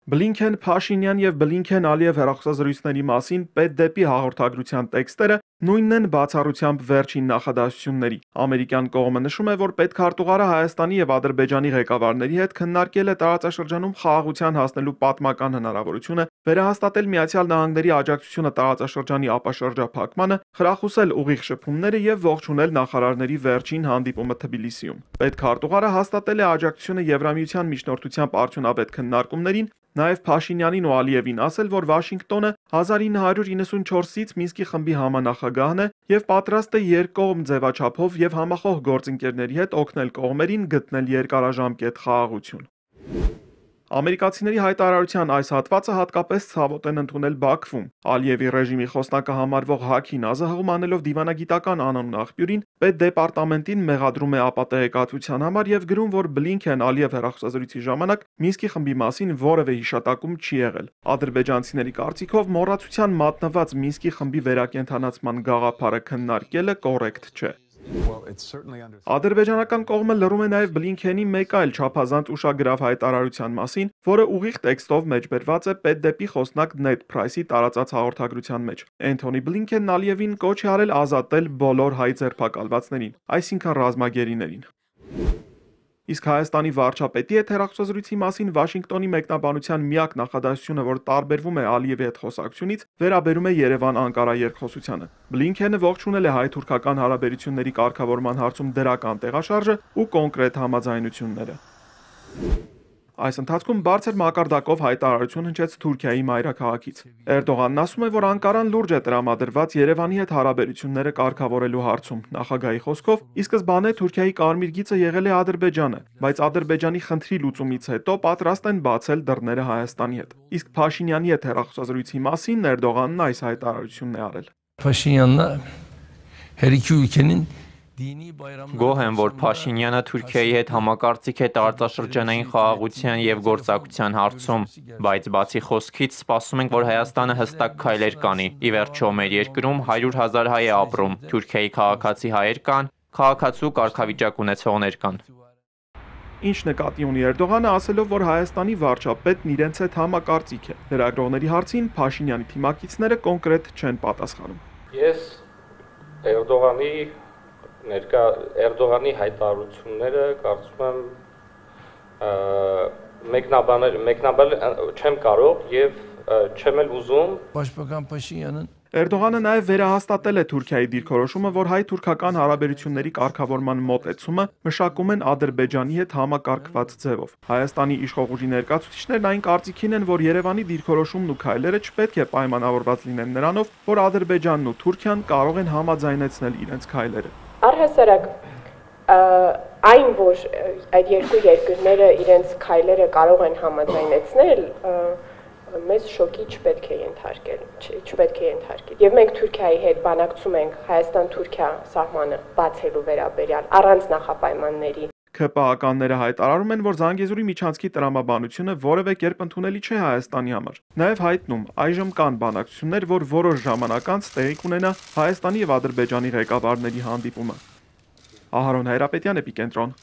Բլինքեն, Փաշինյան եւ Բլինքեն-Ալիև հեռախոսազրույցների մասին պետդեպի հաղորդագրության տեքստերը նույնն են բացառությամբ վերջին նախադասությունների։ Ամերիկյան կողմը նշում է, որ պետքարտուղարը Հայաստանի եւ Ադրբեջանի ղեկավարների հետ քննարկել է տարածաշրջանում խաղաղության հասնելու պատմական հնարավորությունը, վերահաստատել Միացյալ Նահանգների աջակցությունը տարածաշրջանի ապաշրջափակմանը, խրախուսել ուղիղ շփումները եւ ողջունել նախարարների վերջին հանդիպումը Թբիլիսիում։ Պետքարտուղարը հաստատել է աջակցությունը Եվրամիության միջնորդությամբ արդյունավետ քննարկումներին, նաև Փաշինյանին ու Ալիևին ասել, որ Վաշինգտոնը 1994-ից Մինսկի խմբի համանախագահն է եւ պատրաստ է երկկողմ ձևաչափով եւ համախոհ գործընկերների հետ օգնել կողմերին գտնել երկարաժամկետ խաղաղություն։ Ամերիկացիների հայտարարության այս հատվածը հատկապես ցավոտ են ընդունել Բաքվում։ Ալիևի ռեժիմի խոսնակը համարվող Հաքին Ազահում անելով դիվանագիտական անանուն աղբյուրին պետդեպարտամենտին մեղադրում է ապատեգատվության համար եւ գրում, որ Բլինքեն-Ալիև հեռախոսազրույցի ժամանակ Մինսկի խմբի մասին որևէ հիշատակում չի եղել։ Ադրբեջանցիների կարծիքով մոռացության մատնված Մինսկի խմբի վերակենդանացման գաղափարը քննարկելը կոռեկտ չէ։ Ադրբեջանական կողմը լռում է նաև Բլինքենի մեկ այլ չափազանց ուշագրավ հայտարարության մասին, որը ուղիղ տեքստով մեջբերված է պետդեպի խոսնակ Նեդ Փրայսի տարածած հաղորդագրության մեջ։ Էնթոնի Բլինքենն Ալիևին կոչ է արել ազատել բոլոր հայ ձերբակալվածներին, այսինքն ռազմագերիներին։ Իսկ Հայաստանի վարչապետի հետ հեռախոսազրույցի մասին Վաշինգտոնի մեկնաբանության միակ նախադասությունը, որ տարբերվում է Ալիևի հետ խոսակցությունից, վերաբերում է Երևան-Անկարա երկխոսությանը։ Բլինքենը ողջունել է հայ-թուրքական հարաբերությունների կարգավորման հարցում դրական տեղաշարժը ու կոնկրետ համաձայնությունները։ Այս ընթացքում բարձր մակարդակով հայտարարություն հնչեց Թուրքիայի մայրաքաղաքից։ Էրդողանն ասում է, որ Անկարան լուրջ է տրամադրված Երևանի հետ հարաբերությունները կարգավորելու հարցում։ Նախագահի խոսքով, ի սկզբանե Թուրքիայի կարմիր գիծը եղել է Ադրբեջանը, բայց Ադրբեջանի խնդրի լուծումից հետո պատրաստ են բացել դռները Հայաստանի հետ։ Իսկ Փաշինյանի հետ հեռախոսազրույցի մասին Էրդողանն այս հայտարարությունն է արել։ Փաշինյանն հերիքի ülkenin Գոհ եմ, որ Փաշինյանը Թուրքիայի հետ համակարծիք է տարածաշրջանային խաղաղության եւ գործակցության հարցում, բայց բացի խոսքից սպասում ենք, որ Հայաստանը հստակ քայլեր կանի։ Ի վերջո մեր երկրում 100,000 հայ է ապրում, Թուրքիայի քաղաքացի հայեր կան, քաղաքացու կարգավիճակ ունեցողներ կան։ Ինչ նկատի ունի Էրդողանը, ասելով, որ Հայաստանի վարչապետն իրենց հետ համակարծիք է։ Լրագրողների հարցին Փաշինյանի թիմակիցները կոնկրետ չեն պատասխանում։ Ես Էրդողանի հայտարարությունները կարծում եմ մեկնաբանել չեմ կարող եւ չեմ էլ ուզում։ Պաշտպան Փաշինյանն Էրդողանը նաև վերահաստատել է Թուրքիայի դիրքորոշումը, որ հայ-թուրքական հարաբերությունների կարգավորման մոտեցումը մշակում են Ադրբեջանի հետ համակարգված ձևով։ Հայաստանի իշխող ուժի ներկայացուցիչներն այն կարծիքին են, որ Երևանի դիրքորոշումն ու քայլերը չպետք է պայմանավորված լինեն նրանով, որ Ադրբեջանն ու Թուրքիան կարող են համաձայնեցնել իրենց քայլերը։ Առհասարակ այն, որ այդ երկու երկրները իրենց քայլերը կարող են համաձայնեցնել, մեզ շոկի չպետք է ենթարկել։ Եվ մենք Թուրքիայի հետ բանակցում ենք Հայաստան-Թուրքիա սահմանը բացելու վերաբերյալ առանց նախապայմանների։ ՔՊԱ-ականները հայտարարում են, որ Զանգեզուրի միջանցքի տրամաբանությունը որևէ կերպ ընդունելի չէ Հայաստանի համար։ Նաև հայտնում, այժմ կան բանակցություններ, որ որոշ ժամանակ անց տեղի կունենա Հայաստանի եւ Ադրբեջանի ղեկավարների հանդիպումը։ Ահարոն Հայրապետյան, Էպիկենտրոն։